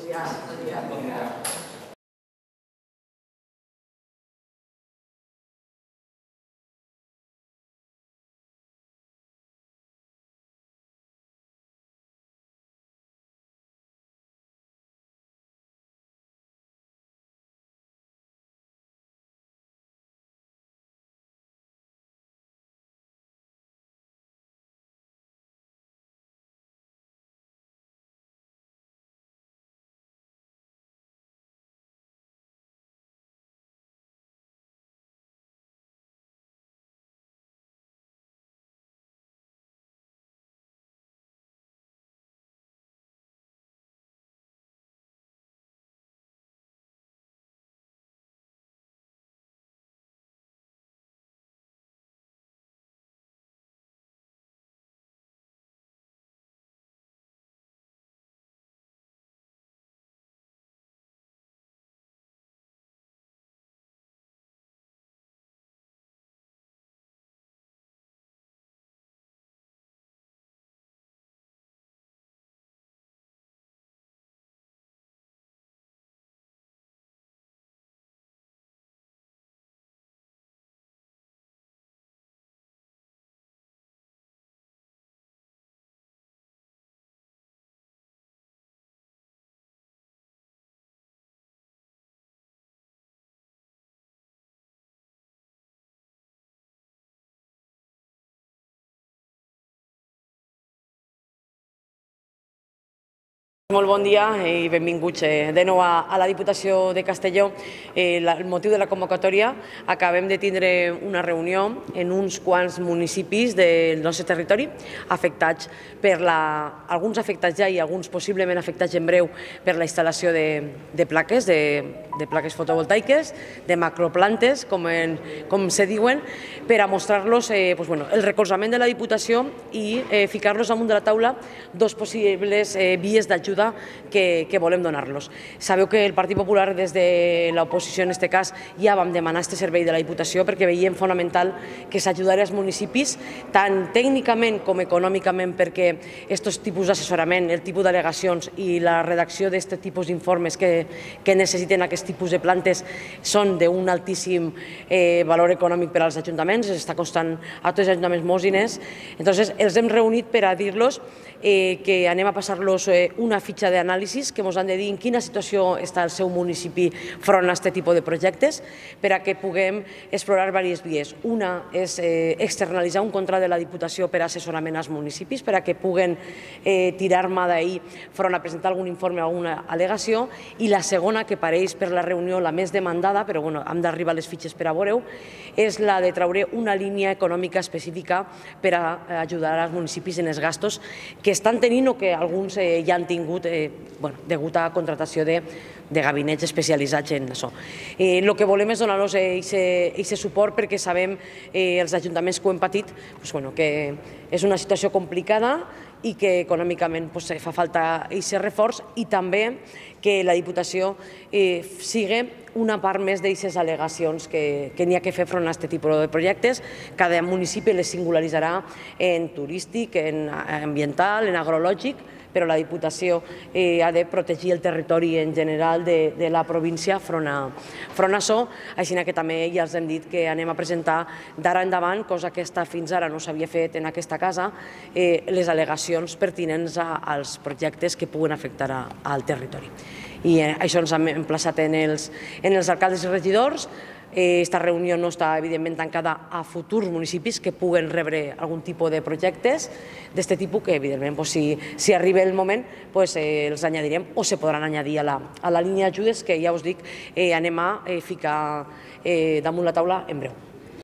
dia. Molt bon dia i benvinguts de nou a la Diputació de Castelló. El motiu de la convocatòria, acabem de tindre una reunió en uns quants municipis del nostre territori afectats per alguns afectats ja i alguns possiblement afectats en breu per la instal·lació de plaques, de plaques fotovoltaiques, de macroplantes, com se diuen, per a mostrar-los el recolzament de la Diputació i ficar-los damunt de la taula dos possibles vies d'ajuda que volem donar-los. Sabeu que el Partit Popular des de l'oposició en aquest cas ja vam demanar aquest servei de la Diputació perquè veiem fonamental que s'ajudarà als municipis tant tècnicament com econòmicament perquè aquests tipus d'assessorament, el tipus d'al·legacions i la redacció d'aquest tipus d'informes que necessiten aquest tipus de plantes són d'un altíssim valor econòmic per als ajuntaments, està costant a tots els ajuntaments molts diners. Entonces els hem reunit per a dir-los que anem a passar-los una fitxa d'anàlisis que ens han de dir en quina situació està el seu municipi front a aquest tipus de projectes per a que puguem explorar diverses vies. Una és externalitzar un contracte de la Diputació per a assessorament als municipis per a que puguen tirar mà d'ahir front a presentar algun informe o alguna al·legació, i la segona, que pareix per la reunió la més demandada, però hem d'arribar a les fitxes per a veure-ho, és la de treure una línia econòmica específica per a ajudar als municipis en els gastos que estan tenint o que alguns ja han tingut degut a contractació de gabinets especialitzats en això. El que volem és donar-los aquest suport perquè sabem, els ajuntaments que ho hem patit, que és una situació complicada i que econòmicament fa falta aquest reforç, i també que la Diputació sigui una part més d'aquestes al·legacions que n'hi ha que fer front a aquest tipus de projectes. Cada municipi les singularitzarà en turístic, en ambiental, en agrològic, però la Diputació ha de protegir el territori en general de la província front a això, així que també ja els hem dit que anem a presentar d'ara endavant, cosa que fins ara no s'havia fet en aquesta casa, les al·legacions pertinents als projectes que puguen afectar al territori. I això ens hem emplaçat en els alcaldes i regidors. Aquesta reunió no està, evidentment, tancada a futurs municipis que puguen rebre algun tipus de projectes d'aquest tipus que, evidentment, si arriba el moment, els añadirem o se podran añadir a la línia d'ajudes que, ja us dic, anem a ficar damunt la taula en breu.